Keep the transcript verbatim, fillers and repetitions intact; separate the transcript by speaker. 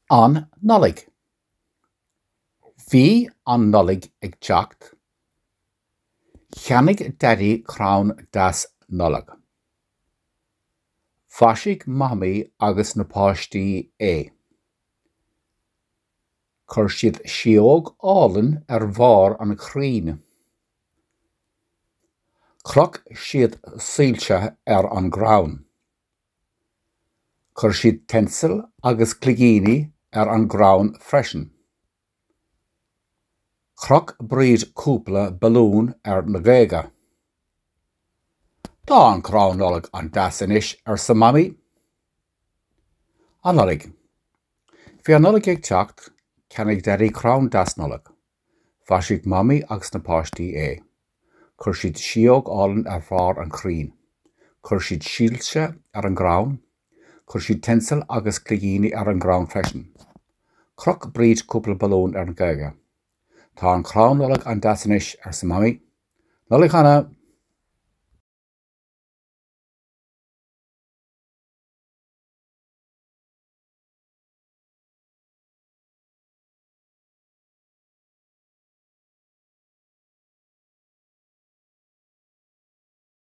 Speaker 1: An Nollaig. Bhí an Nollaig ag teacht. Cheannaigh Daidí crann deas Nollag. Mhaisigh Mamaí agus na páistí é. Chuir siad sidheog álainn ar bharr an chrainn. Chroch siad soilse ar an gcrann. Chuir siad tinsel agus cloigíní ar an gcrann freisin. Chroch Bríd cúpla balún ar na géaga. Tá an crann Nollag an-deas anois arsa Mamaí. An Nollaig. Bhí an Nollaig ag teacht, cheannaigh Daidí crann deas Nollag. Mhaisigh Mamaí agus na páistí é. Chuir siad sidheog álainn ar bharr an chrainn. Chuir siad soilse ar an gcrann, chuir siad tinsel agus cloigíní ar an gcrann freisin. Chroch Bríd cúpla balún ar na géaga. Tá an crann Nollag an-deas anois arsa Mamaí. Nollaig shona!